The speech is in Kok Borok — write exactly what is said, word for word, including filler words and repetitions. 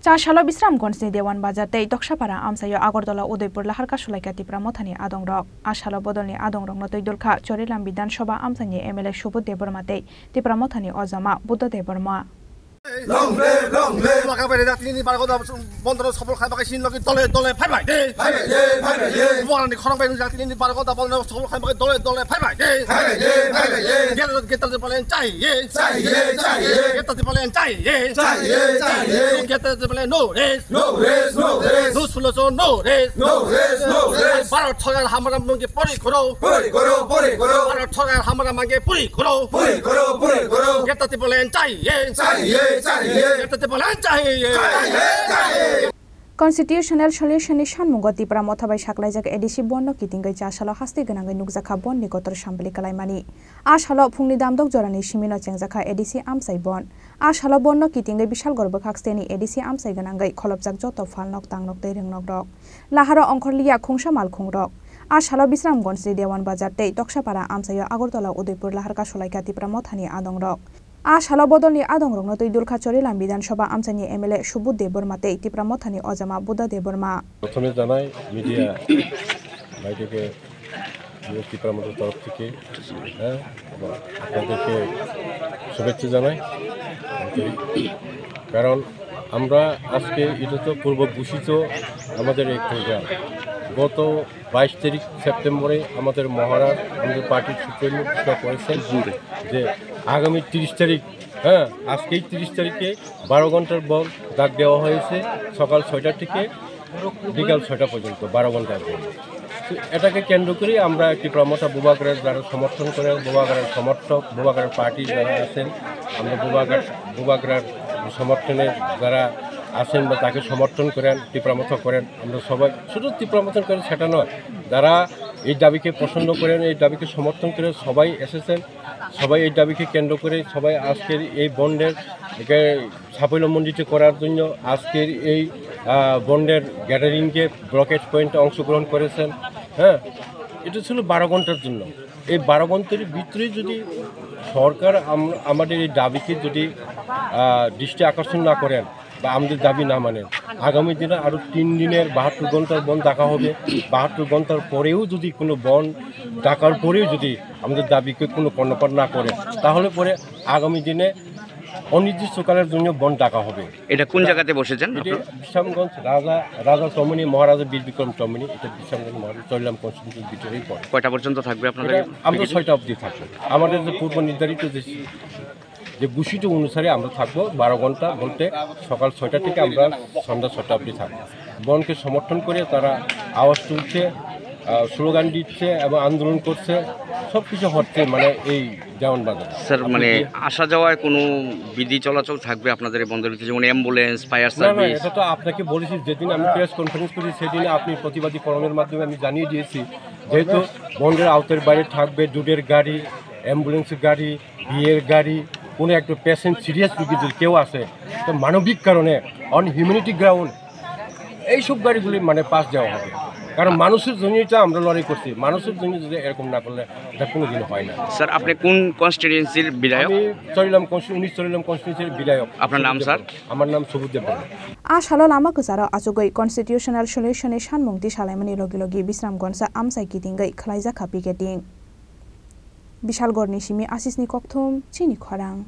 Cha salo Bisramganjni Dewan Bazar tei Toksapara amchaio Agartala Udaipur laharka sulaikha Tipra Mothani adongrok. A salo bodolni adongrokno twi dulkha Chorilam Bidhan Sabha amchaini M L A Subodh Debbarma tei Tipra Mothani ojama Buddha Debbarma. Long live, long live. Bubagra bai rejak tinini bargo da bondoro sobol khai bagai sin logi dole dole phai bai de. Phai bai de, phai bai de. Bubagrani khorang bai rejak tinini bargo da bondoro sobol khai bagai dole dole phai bai de. Phai bai de, phai bai de. Geta, geta de balen chai ye. Chai ye, chai ye. Geta de balen chai ye. Chai ye, chai ye. Geta de balen no rest. No rest, no rest. No solution, no rest. No rest, no rest. Bharat sorkar hamara mungi pori koro. Pori koro, pori koro. Bharat sorkar hamara mungi pori koro. Pori koro, pori koro. Geta de balen chai ye. Chai ye, chai ye. Geta de balen chai ye. Chai ye, chai ye. Constitutional Solution ni sanmungo Tipra Motha bai saklaijak A D C bondno kitingwi cha salo hastwi gwnangwi nukjakha bondni kotor sambli kalaimani. A salo phungni damdok jorani simino chengjakha A D C amchai bond. A salo bondno kitingwi Bishalgarh bwkhak steni A D C amchai gwnangwi kholopjak joto phalnok, tangnok tei rwngnok rok. Laharo ongkhorliya khungsa malkhungrok. A salo Bisramganjni Dewan Bazar tei Toksapara amchaio Agartala Udaipur laharka sulaikha Tipra Mothani adongrok. A salo bodolni adongrokno twi dulkha Chorilam Bidhan Sabha amchaini M L A Subodh Debbarma tei Tipra Mothani ojama Buddha Debbarma. প্রথমে জানাই মিডিয়া ভাইদেরকে, আমি ত্রিপুরা মঞ্চের তরফ থেকে, হ্যাঁ, এবং আপনাদেরকে শুভেচ্ছা জানাই। কারণ আমরা আজকে, এটা তো পূর্ব ঘোষিত আমাদের এই প্রোগ্রাম। গত বাইশ তারিখ সেপ্টেম্বরে আমাদের মহারাজ, আমাদের পার্টির সুপ্রিমো ঘোষণা করেছেন যে আগামী তিরিশ তারিখ, হ্যাঁ, আজকেই তিরিশ তারিখে বারো ঘন্টার বন্ধ ডাক দেওয়া হয়েছে, সকাল ছয়টা থেকে বিকাল ছয়টা পর্যন্ত বারো ঘন্টার বন্ধ। তো এটাকে কেন্দ্র করেই আমরা ত্রিপুরা মথা বুবাগ্রার যারা সমর্থন করেন, বুবাগ্রার সমর্থক, বুবাগ্রার পার্টি যারা আছেন, আমরা বুবাগ্রার, বুবাগ্রার সমর্থনে যারা আছেন বা তাকে সমর্থন করেন, ত্রিপুরা মথা করেন, আমরা সবাই শুধু ত্রিপুরা মথা করেন সেটা নয়, যারা এই দাবিকে পছন্দ করেন, এই দাবিকে সমর্থন করে সবাই এসেছেন, সবাই এই দাবিকে কেন্দ্র করে সবাই আজকের এই বন্ধের একে সাফল্যমণ্ডিত করার জন্য আজকের এই, আহ, বন্ধের গ্যাদারিংকে ব্লকেড পয়েন্টে অংশগ্রহণ করেছেন। হ্যাঁ, এটা ছিল বারো ঘন্টার জন্য। এই বারো ঘন্টার ভিতরে যদি সরকার আম-, আমাদের এই দাবিকে যদি, আহ, দৃষ্টি আকর্ষণ না করেন বা আমাদের দাবি না মানেন, আগামী দিনে আরও তিন দিনের বাহাত্তর ঘন্টার বন্ধ ডাকা হবে। বাহাত্তর ঘন্টার পরেও যদি কোনো বন্ধ ডাকার পরেও যদি আমাদের দাবিকে কোনো কর্ণপাত না করেন, তাহলে পরে আগামী দিনে অনির্দিষ্টকালের জন্য বন্ধ ডাকা হবে। এটা কোন জায়গাতে বসেছেন এটি আপনারা? বিশ্রামগঞ্জ রাজা, রাজা চৌমুহনী, মহারাজা বীর বিক্রম চৌমুহনী, এটা বিশ্রামগঞ্জ মহারাজা চরিলাম কনস্টিটিউশন ভিতরেই পড়ে। কয়টা পর্যন্ত থাকবে আপনাদের এটা আমরা ছয়টা অবধি থাকবো। আমাদের যে পূর্ব নির্ধারিত যে, যে ঘোষিত অনুসারে আমরা থাকবো বারো ঘন্টা, বলতে সকাল ছয়টা থেকে আমরা সন্ধ্যা ছয়টা অবধি থাকবো। বনকে সমর্থন করে তারা আওয়াজ তুলছে, আহ, স্লোগান দিচ্ছে এবং আন্দোলন করছে, সব কিছু হচ্ছে মানে এই দেওয়ান বাজারে। স্যার, আপনি মানে কি আসা যাওয়ায় কোনো বিধি চলাচল থাকবে আপনাদের এই বন্দরের ভিতরে, যেমন অ্যাম্বুলেন্স, ফায়ার না, না, সার্ভিস? এটা তো আপনাকে বলেছি, যেদিন আমি প্রেস কনফারেন্স করি সেদিন আপনি প্রতিবাদী কলমের মাধ্যমে আমি জানিয়ে দিয়েছি, যেহেতু বন্দরের আওতার বাইরে থাকবে দুধের গাড়ি, অ্যাম্বুলেন্সের গাড়ি, বিয়ের গাড়ি, কোনো একটা পেশেন্ট সিরিয়াস রুগী যদি কেউ আসে, তো মানবিক কারণে, অন হিউম্যানিটি গ্রাউন্ড, এইসব গাড়িগুলি মানে পাস দেওয়া হবে। কারণ মানুষের জন্যই তো আমরা লড়াই করছি, মানুষের জন্য যদি এরকম না করলে এটা কোনোদিনও হয় না। স্যার, আপনি কোন কনস্টিটিউয়েন্সির বিধায়ক? আমি চরিলাম কনস্টি-, উনিশ চরিলাম কনস্টিটিউয়েন্সির বিধায়ক। আপনার নাম, স্যার? আমার নাম সুবোধ Debbarma. A salo lama kwcharo achugwi Constitutional Solution ni sanmung tisalaimani logi logi Bisramganj amchai kitingwi khwlaijakha picketing. Bishalgarh ni simi Ashish ni kokthum, chini khorang.